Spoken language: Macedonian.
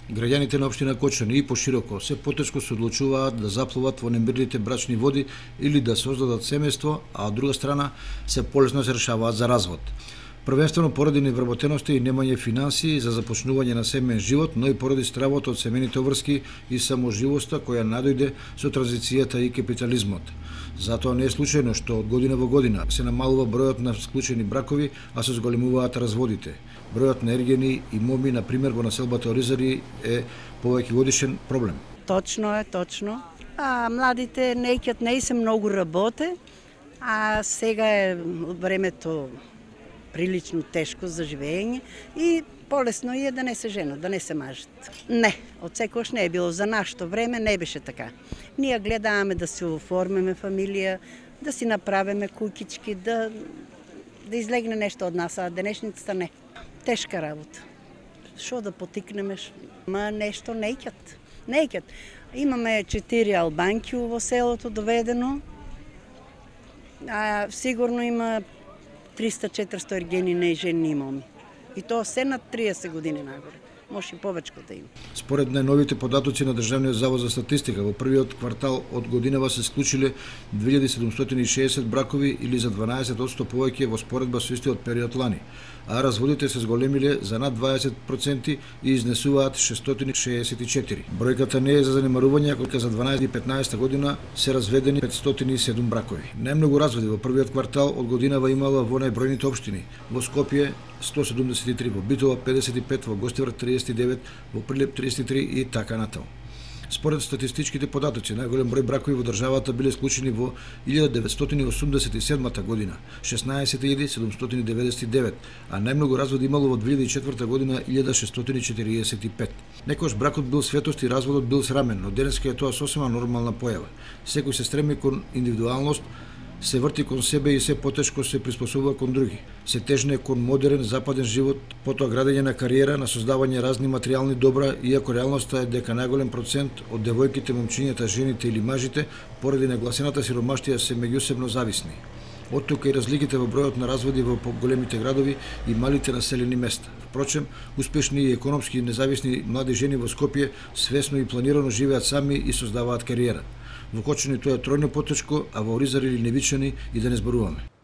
Граѓаните на општина Кочани и пошироко се потешко се одлучуваат да заплуват во немирните брачни води или да создадат семејство, а од друга страна се полесно се решаваат за развод. Првенствено поради невработеноста и немање финансии за започнување на семеен живот, но и поради стравот од семејните врски и саможивоста која надојде со транзицијата и капитализмот. Затоа не е случајно што од година во година се намалува бројот на склучени бракови, а се зголемуваат разводите. Бројот на ергени и моми, на пример, во населбата Оризари е повеќе годишен проблем. Точно е, точно. А младите неќиот не се многу работе, а сега е времето прилично тешко за живење и полесно е да не се женат, да не се мажат. Не, од секогаш не е било. За нашето време не беше така. Ние гледаме да се оформиме фамилија, да си направиме куќички, да излегне нешто од нас, а денешницата не. Тешка работа. Шо да потикнеме, ма нешто неќат. Имаме 4 албанки во селото доведено, а сигурно има 300-400 ергени и жени и моми. И тоа се над 30 години нагоре. Може и повечко да има. Според најновите податоци на Државниот завод за статистика, во првиот квартал од годинава се склучиле 2760 бракови или за 12% повеќе во споредба со истиот период лани, а разводите се зголемиле за над 20% и изнесуваат 664. Бројката не е за занемарување, кога за 2015 година се разведени 507 бракови. Најмногу разводи во првиот квартал од годинава имала во најбројните општини: во Скопје 173, во Битола 55, во Гостивар 39, во Прилеп 33 и така натаму. Според статистичките податоци, најголем број бракови во државата биле склучени во 1987 година, 16.799, а најмногу разводи имало во 2004 година 1645. Некојаш бракот бил светост и разводот бил срамен, но денеска е тоа сосема нормална појава. Секој се стреми кон индивидуалност, се врти кон себе и се потешко се приспособува кон други. Се тежне кон модерен западен живот, потоа градење на кариера, на создавање разни материјални добра, иако реалноста е дека најголем процент од девојките, момчињата, жените или мажите, поради нагласената сиромаштија, се меѓусебно зависни. Од тука и разликите во бројот на разводи во големите градови и малите населени места. Впрочем, успешни и економски независни млади жени во Скопје свесно и планирано живеат сами и создаваат кариера. Во Кочани тоа е тројно потешко, а во Оризари или Невичани и да не зборуваме.